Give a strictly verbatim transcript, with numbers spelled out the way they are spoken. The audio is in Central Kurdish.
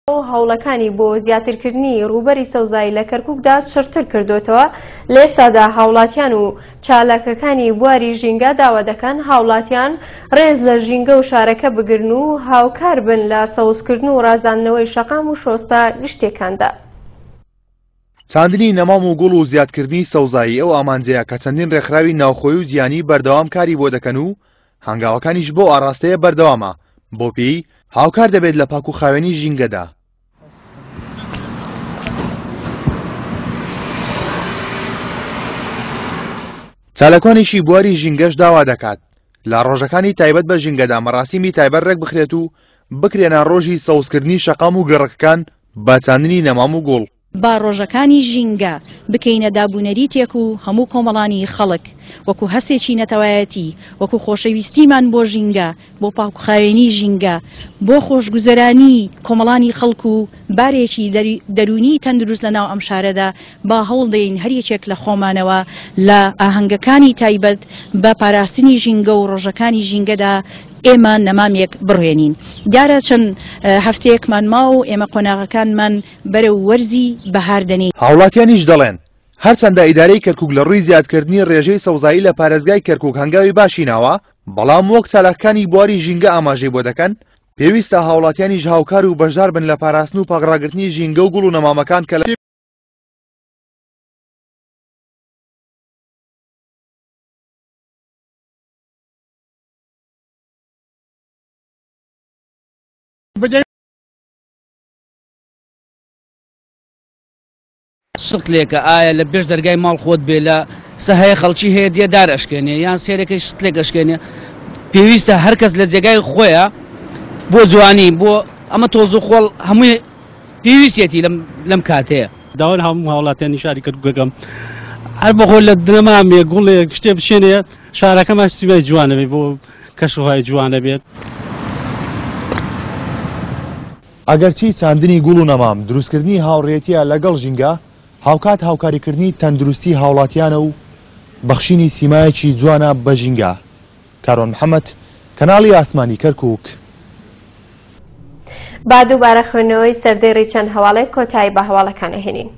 هەوڵەکانی بۆ زیاترکردنی ڕووبەری سەوزایی لە کەرکووکدا چڕتر کردوتەوە. لە ئێستادا هاوڵاتیان و چالاکەکانی بواری ژینگە داوا دەکەن هاوڵاتیان ڕێز لە ژینگە و شارەکە بگرن و هاوکار بن لە سەوزکردن و ڕازاندنەوەی شەقام و شۆستە گشتیەکاندا. چاندنی نەمام و گوڵ و زیادکردنی سەوزایی ئەو ئامانجەیە کە چەندین ڕێکخراوی ناوخۆی و جیهانی بەردەوام کاری بۆ دەکەن و هەنگاوەکانیش بۆ ئاراستەیە بەردەوامە، بۆ پێی هاوکار دەبێت لە پاک و خاوێنی ژینگەدا. چالاکوانێکی بواری ژینگەش داوا دەکات لە ڕۆژەکانی تایبەت بە ژینگەدا مەراسیمی تایبەت ڕێک بخرێت و بکرێنە ڕۆژی سەوزکردنی شەقام و گەڕەکەکان بە چاندنی نەمام و گوڵ. با ڕۆژەکانی ژینگە بکەینە دابوونەریتێک و هەموو کۆمەڵانی خەڵک وەکو هەستێکی نەتەوایەتی، وەکو خۆشەویستیمان بۆ ژینگە، بۆ پاکوخاوێنی ژینگە، بۆ خۆشگوزەرانی کۆمەڵانی خەڵک و بارێکی دەروونی تەندروست لەناو ئەم شارەدا، با هەوڵ دەین هەر یەکێک لە خۆمانەوە لە ئاهەنگەکانی تایبەت بە پاراستنی ژینگە و ڕۆژەکانی ژینگەدا ئێمە نەمامێک بڕوێنین. دیارە چەند هەفتەیەکمان ما و ئێمە قۆناغەکانمان بەرەو وەرزی بەهار دەنێین. هاوڵاتیانیش دەڵێن هەرچەندە ئیدارەی کەرکوک لە ڕووی زیادکردنی ڕێژەی سەوزایی لە پارێزگای کەرکوک هەنگاوی باشی ناوە، بەڵام وەک چالاکانی بواری ژینگە ئاماژەی بۆ دەکەن پێویستە هاوڵاتیانیش هاوکار و بەشدار بن لە پاراستن و پاکڕاگرتنی ژینگە و گوڵ و نەمامەکان کە لە شتلێکە ئایا لە پێش دەرگای ماڵ خۆت بێ لە سەهەیە خەڵکی هەیە دێ دار ئەشکێنێ یان سێرەکەی شتلێک ئەشکێنێ، پێویستە هەر کەس لە جێگای خۆیە بۆ جوانی بۆ ئەمە تۆز و خۆڵ هەمووی پێویستێتی لەم کاتەیە. داوا لە هەموو هاوڵاتیانی شاری کەرکووکەکەم هەر بەخۆ لە دنەمامێ گوڵێک شتێ بچێنێ شارەکەمان سیمای جوانە بێت، بۆ کەشوهوای جوانە بێت. ئەگەرچی چاندنی گوڵ و نەمام دروستکردنی هاوڕێتیە لەگەڵ ژینگە، هاوکات هاوکاریکردنی تەندروستی هاوڵاتیانە و بەخشینی سیمایەکی جوانە بە ژینگە. کاروان محەممەد، کەناڵی ئاسمانی کەرکووک. با دووبارە خوێندنەوەی سەردێڕی چەند هەواڵێک کۆتایی بە هەواڵەکان ئەهێنین.